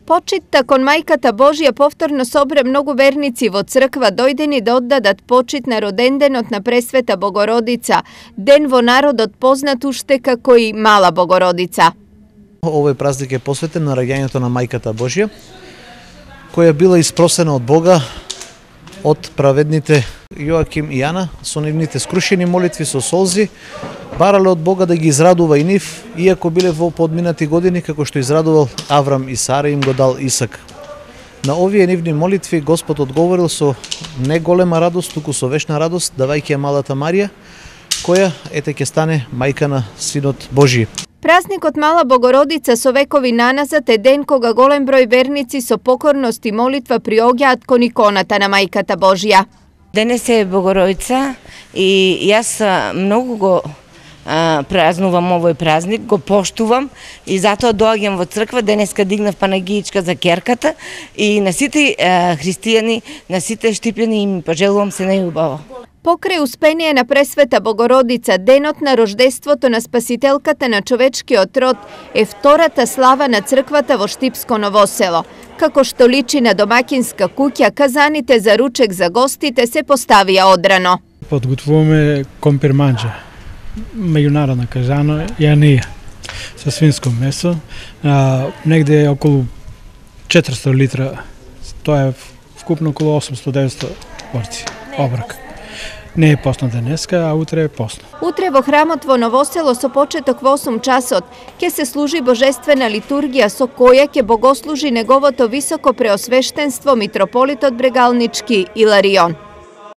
Почитта кон Мајката Божија повторно собра многу верници во црква дојдени да оддадат почит на роденденот на Пресвета Богородица, ден во народот познат уште како и Мала Богородица. Овој празник е посветен на раѓањето на Мајката Божија, која била испросена од Бога од праведните Јоаким и Јана со нивните скрушени молитви со солзи, барале од Бога да ги израдува и нив, иако биле во подминати години, како што израдувал Аврам и Сара, им го дал Исак. На овие нивни молитви Господ одговорил со не голема радост, туку со вечна радост, давајќи ја малата Марија, која ете ќе стане мајка на Синот Божи. Празникот Мала Богородица со векови наназад е ден кога голем број верници со покорност и молитва приоѓаат кон иконата на Мајката Божија. Денес е Богородица и јас многу го празнувам овој празник, го поштувам и затоа доаѓам во црква. Денеска дигнав панагиичка за керката и на сите христијани, на сите штипјани им пожелувам се најубаво. Покрај успение на Пресвета Богородица, денот на рождеството на Спасителката на човечкиот род е втората слава на црквата во Штипско Ново село. Како што личи на домакинска куќа, казаните за ручек за гостите се поставија одрано. Подготвуваме компир манџа, меѓународна кажано, јанија, со свинско месо, негде околу 400 литра, тоа е вкупно околу 800-900 порци, оброк. Не е посно денеска, а утре е посно. Утре во храмот во Новосело со почеток во 8 часот ќе се служи божествена литургија со која ќе богослужи неговото високо преосвештенство митрополитот Брегалнички Иларион.